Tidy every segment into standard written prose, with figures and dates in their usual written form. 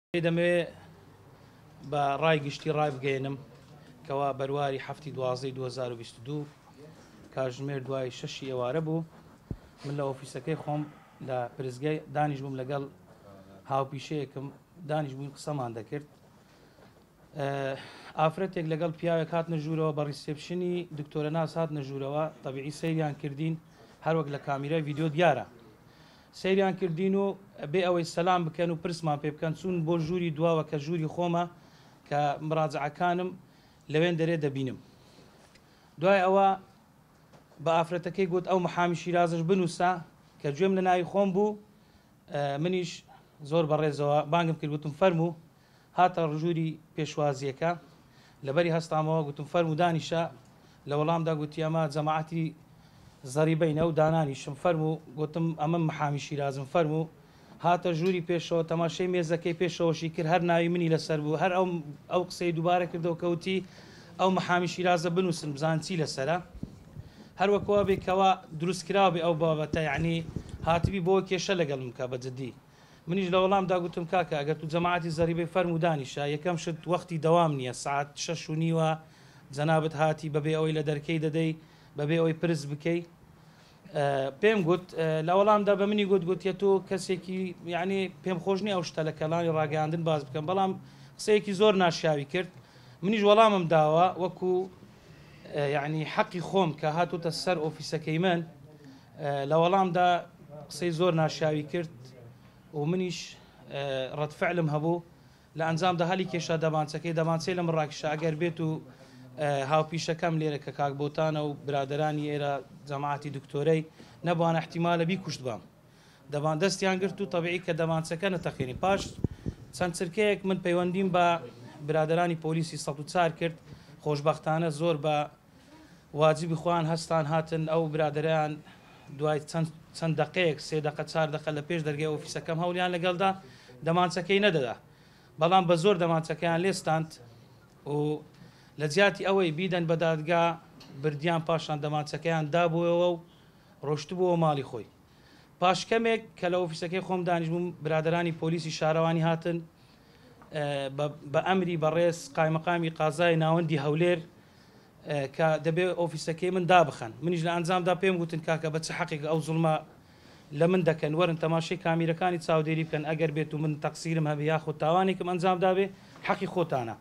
دەمەوێ بە ڕای گشتی ڕایبگەیەنم کەوا بەرواری حەفتی دوازدەی 2022 کاتژمێر دوای شەشی ئێوارە بوو من لە ئۆفیسەکەی خۆم لە پرسگای دانیش بووم لەگەڵ هاوپیشەیەکم دانیش بووین قسەمان دەکرد. ئافرەتێک لەگەڵ پیاوێک هاتنە ژوورەوە بە ڕیسێپشنی دکتۆرە ناس هاتنە ژوورەوە، تەبیعی سەیریان کردین هەروەک لە کامیرای ڤیدیۆ دیارە سەیریان کردین و بێ ئەوەی سەلام بکەن و پرسمان پێ بکەن چوون بۆ ژووری دواوە کە ژووری خۆمە کە مراجعەکانم لەوێن دەرێ دەبینم. دوای ئەوە بە ئافرەتەکەی گوت ئەو محامی شیرازش بنووسە کە گوێم لە ناوی خۆم بوو منیش زۆر بەڕێزەوە بانگم کرد گوتم فەرموو. هاتە ژووری پێشوازییەکە، لەبەری هەستامەوە، گوتم فەرموو دانیشە، لە وەڵامدا گوتی ئەمە جەماعەتی زەریبەینە و دانانیشم، فەرموو، گوتم ئەمە محامی شیرازم، فەرموو. هاتە ژووری پێشەوە، تەماشای مێزەکەی پێشەوەشی کرد، هەر ناوی منی لەسەر بوو، هەر ئەو ئەو قسەی دووبارە کردەوە کە وتی ئەو محامی شیرازە بنووسن بزانن چی لەسەرە. هەر وەک وا بێ کەوا دروستکراو بێ ئەو بابەتە، یەعنی هاتبی بۆ کێشە لەگەڵم بکا بە جدی. منیش لە وەڵامدا گوتم کاکە ئەگەر تو جەماعەتی زەریبەی فەرموو دانیشە، یەکەم شت وەختی دەوام نییە سەعات شەش و نیوە جەنابت هاتی بەبێ ئەوەی لە دەرکەی دەدەی بەبێ ئەوەی پرس بکەی پێم گوت لە وەڵامدا بە منی گوت گوتیە تۆ کەسێکی یعنی پێم خۆش نییە ئەو شتە لە کەڵانی ڕاگەیاندن باس بکەم بەڵام قسەیەکی زۆر ناشیاوی کرد منیش وەڵامم داوە وەکو یعنی حەقی خۆم کە هاتوتە سەر ئۆفیسەکەی من لە وەڵامدا قسەی زۆر ناشیاوی کرد و منیش ڕەد فعلم هەبوو، لە ئەنجامدا هەلی کێشا دەمانچەکەی، دەمانچەی لە من ڕاکیشا، ئەگەر بێت و هاوپیشەکەم لێرە کە کاک بۆتانە و برادەرانی ئێرە جەماعەتی دکتۆرەی نەبوانە احتیمالە بیکوشتبام. دەمان دەستیان گرت و تەبیعی کە دەمانچەکە نەتەقێنی. پاش چەند چرکەیەک من پەیوەندیم بە برادەرانی پۆلیسی 104 کرد، خۆشبەختانە زۆر بە واجبی خۆیان هەستان هاتن ئەو برادەرەیان دوای چەند چەند دەقەیەک سێ دەقە چار دەقە لە پێش دەرگای ئۆفیسەکەم هەوڵیان لەگەڵدا دەمانچەکەی نەدەدا بەڵام بە زۆر دەمانچەکەیان لێستاند و لە جیاتی ئەوەی بیدەن بە دادگا بردیان پاشان دەمانچەکەیان دابووەوە و ڕۆشتبووەوە ماڵی خۆی پاش کەمێک کە لە ئۆفیسەکەی خۆم دانیشبووم برادەرانی پۆلیسی شارەوانی هاتن بە ئەمری بەڕێز قایمەقامی قازای ناوەندی هەولێر کە دەبێ ئۆفیسەکەی من دابخەن منیش لە ئەنجامدا پێم گوتن کاکە بە چ حەقێک ئەو زوڵمە لە من دەکەن وەرن تەماشەی کامیرەکانی چاودێری بکەن ئەگەر بێت و من تەقسیرم هەبێ یاخود تاوانێکم ئەنجام دابێ حەقی خۆتانە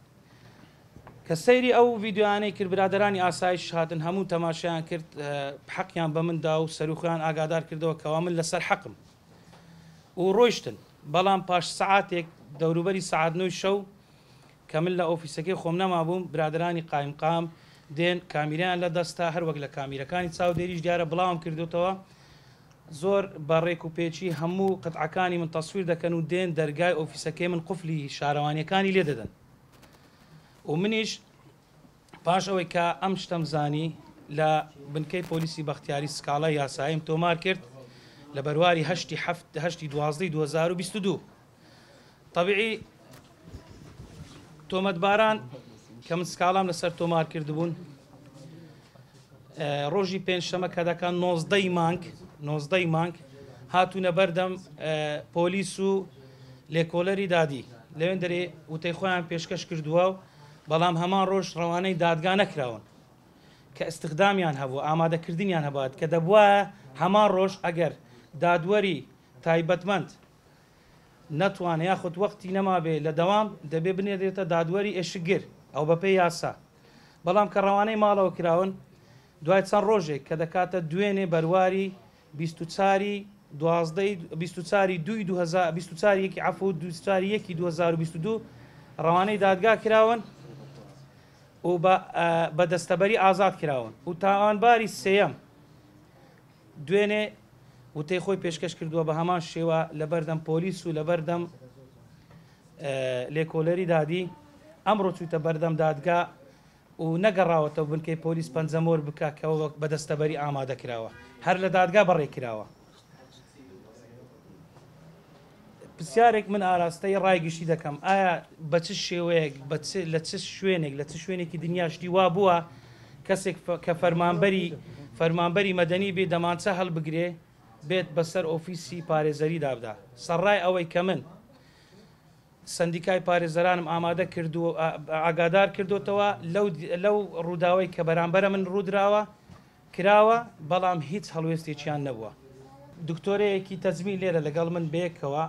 کە سەیری ئەو ڤیدیۆیانەی کرد برادەرانی ئاسایش هاتن هەموو تەماشایان کرد حەقیان بە من دا و سەروخۆیان ئاگادار کردەوە کەوا من لەسەر حەقم و ڕۆیشتن بەڵام پاش سەعاتێک دەوروبەری سەعات نۆی شەو کە من لە ئۆفیسەکەی خۆم نەمابووم، برادەرانی قایمقام دێن کامیرایان لە دەستە، هەر وەک لە کامیرەکانی چاودێریش دیارە بڵاوم کردۆتەوە، زۆر بە ڕێک و پێکی هەموو قتعەکانی من تەسویر دەکەن و دێن دەرگای ئۆفیسەکەی من قفلی شارەوانیەکانی لێ دەدەن و منیش پاش ئەوەی کە ئەم شتەم زانی لە بنکەی پۆلیسی بەختیاری سکاڵای یاساییم تۆمار کرد لە بەرواری هەشتی حەفت هەشتی دوازدەی 2022. تەبیعی تۆمەتباران کە من سکاڵام لەسەر تۆمار کردبوون ڕۆژی پێنجشەمە کە دەکات نۆزدەی مانگ نۆزدەی مانگ هاتوونە بەردەم پۆلیس و لێکۆلەری دادی لەوێن دەرێ وتەی خۆیان پێشکەش کردووە و بەڵام هەمان ڕۆژ ڕەوانەی دادگا نەکراون کە ئیستخدامیان هەبوو ئامادەکردنیان هەبات کە دەبوایە هەمان ڕۆژ ئەگەر دادوەری تایبەتمەند نەتوانێ یاخود وەختی نەمابێ لە دەوام دەبێ بنێردرێتە دادوەری ئێشکگر ئەو بەپێی یاسا بەڵام کە ڕەوانەی ماڵەوە کراون دوای چەند ڕۆژێک کە دەکاتە دوێنێ بەرواری 24 ی دوازدەی 24 ی دووی 24 یەکی عەفو 24 یەکی 2022 ڕەوانەی دادگا کراون و بە دەستەبەری ئازاد کراون و تاوانباری سێیەم دوێنێ وتەی خۆی پێشکەش کردووە بە هەمان شێوە لەبەردەم پۆلیس و لەبەردەم لێکۆلەری دادی ئەمڕۆ چووتە بەردەم دادگا و نەگەڕاوەتەوە بنکەی پۆلیس پەنجەمۆر بکە کە وەک بە دەستەبەری ئامادە کراوە هەر لە دادگا بەڕێ کراوە. پرسیارێک من ئاراستەی ڕای گشتی دەکەم ئایا بە چ شێوەیەک بە چ لە چ شوێنێک لە چ شوێنێکی دنیا شتی وا بووە کەسێک کە فەرمانبەری فەرمانبەری مەدەنی بێ دەمانچە هەڵبگرێ بێت بەسەر ئۆفیسی پارێزەری دابدا سەرڕای ئەوەی کە من. سەندیکای پارێزەرانم ئامادە کردووە، ئاگادار کردۆتەوە لەو لەو ڕووداوەی کە بەرامبەرە من ڕوودراوە کراوە، بەڵام هیچ هەڵوێستێکیان نەبووە. دکتۆرەیەکی تەجمیل لێرە لەگەڵ من بەیەکەوە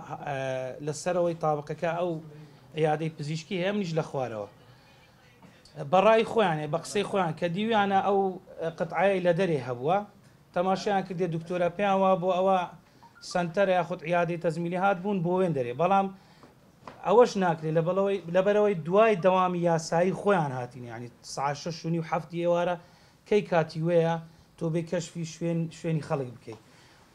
لە سەرەوەی تابقەکە ئەو عیادەی پزیشکی هەیە، منیش لە خوارەوە. بە ڕای خۆیان، بە قسەی خۆیان کە دیویانە ئەو قەتعەیەی لە دەرێ هەبووە، تەماشایان کردێ دکتۆرە پێیان وابووە ئەوە سەنتەرە یاخود عیادەی تەجمیلی هات بوون بۆ وێن دەرێ، بەڵام ئەوەش ناکرێت لەبەرەوەی دوای دەوامی یاسایی خۆیان هاتین، یعنی ساعت 6:30 7 ئێوارە کەی کاتی وەیە تۆ بێ کەشفی شوێنی خەڵک بکەیت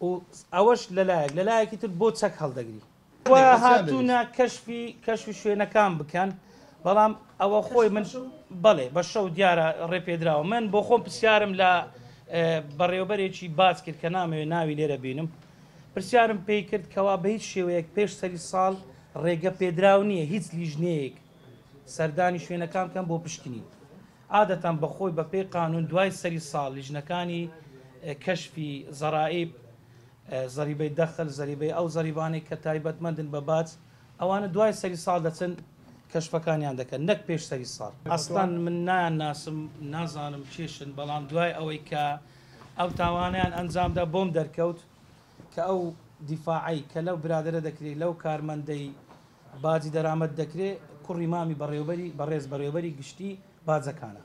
و ئەوەش لەلایەک، لەلایەکی تر بۆ چەک هەڵدەگری و هاتوونە کەشفی شوێنەکان بکەن، بەڵام ئەوە خۆی من بەڵێ بە شەو دیارە ڕێپێدراوە. من بۆ خۆم پرسیارم لە بەڕێوەبەرێکی باج کرد کە نامەوێت ناوی لێرە بینم، پرسیارم پێی کرد کەوا بە هیچ شێوەیەک پێش سەری ساڵ ڕێگە پێدراو نییە هیچ لیژنەیەک سەردانی شوێنەکان بکەن بۆ پشکنین. عادەتەن بەخۆی بە پێی قانون دوای سەری ساڵ لیژنەکانی کەشفی زەرائیب، زەریبەی دەخل، زەریبەی ئەو زەریبانەی کە تایبەتمەندن بە باج، ئەوانە دوای سەری ساڵ دەچن کەشفەکانیان دەکەن نەک پێش سەری ساڵ. ئەسڵەن من نایان ناسم، نازانم چێشن، بەڵام دوای ئەوەی کە ئەو تاوانیان ئەنجامدا بۆم دەرکەوت کە ئەو دیفاعی کە لەو برادرە دەکرێت، لەو کارمەندەی باجی دەرامەت دەکرێت، کوڕی مامی بەڕێوبەری بەڕێز بەڕێوبەری گشتی باجەکانە.